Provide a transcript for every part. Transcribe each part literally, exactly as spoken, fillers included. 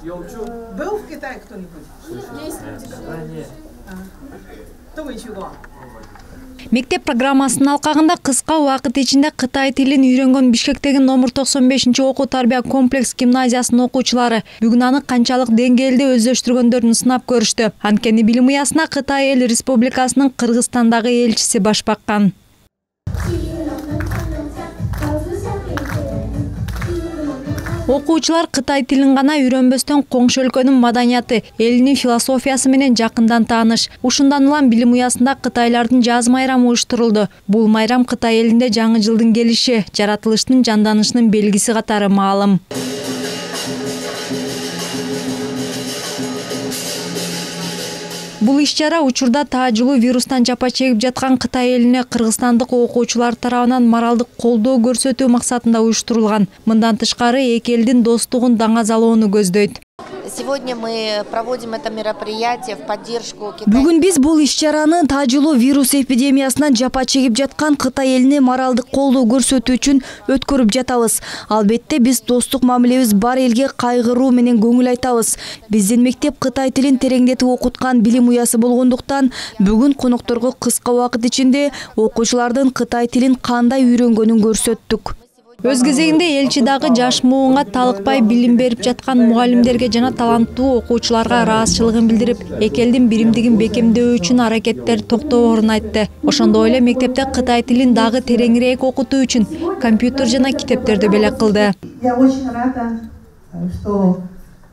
Был в Китае кто-нибудь? Есть. Кто еще был? Мектеп программасынын алкагында кыска убакыт ичинде Кытай тилин үйрөнгөн Бишкектеги номер токсон бешинчи окуу тарбия комплекс гимназиясынын окуучулары бүгүн аны канчалык деңгээлде өздөштүргөндөрүн сынап көрүштү. Анткени билим уясына Кытай эл республикасынын Кыргызстандагы элчиси баш баккан. Окуучулар Кытай тилин гана үйрөнбөстөн коңшу өлкөнүн маданияты, элинин философиясы менен жакындан тааныш. Ушундан улам билим уясында кытайлардын жаз майрамы уюштурулду. Бул майрам Кытай элинде жаңы жылдын келиши, жаратылыштын жанданышынын белгиси катары маалым. Бул иш-чара учурда таажылуу вирустан жапа чегип жаткан Кытай элине кыргызстандык окуучулар тарабынан моралдык колдоо көрсөтүү максатында уюштурулган. Мындан тышкары эки элдин достугун даңазалоону көздөйт. Сегодня мы проводим это мероприятие в поддержку Китая. Бүгүн биз бул иш-чараны таажылуу вирус эпидемиясынан жапа чегип жаткан Кытай элине моралдык колдоо көрсөтүү үчүн өткөрүп жатабыз. Албетте биз достук мамилебиз бар элге кайгыруу менен көңүл айтабыз. Биздин мектеп Кытай тилин тереңдетип окуткан билим уясы болгондуктан бүгүн конокторго кыска убакыт ичинде окуучулардын Кытай тилин кандай үйрөнгөнүн көрсөттүк. Өз кезегинде элчи дагы жаш муунга талыкпай билим берип жаткан мугалимдерге жана таланттуу окуучуларга ыраазычылыгын билдирип, эки элдин биримдигин бекемдөө үчүн аракеттер токтоборун айтты. Ошондой эле мектепте Кытай тилин дагы тереңирээк окутуу үчүн компьютер жана китептерди белек кылды. Я очень рада, что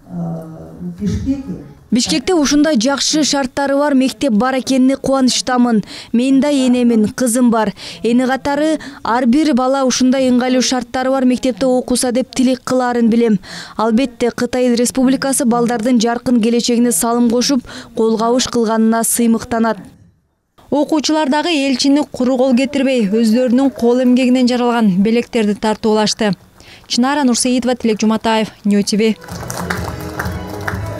в Бишкеке Бишкекте ушундай жакшы шарттары бар мектеп бар экенине кубанычтамын. Мен да энемин, кызым бар. Эни катары ар бир бала ушундай ыңгайлуу шарттары бар мектепте окуса деп тилек кылаарын билем. Албетте Кытай Республикасы балдардын жаркын келечегине салым кошуп, кол кабыш кылганына сыймыктанат. Окуучулар дагы элчини куру кол кетирбей, өздөрүнүн кол эмгегинен жаралган белектерди тартуулашты. Чынара Нурсеитова, Тилек Жуматаев, Нью ти ви.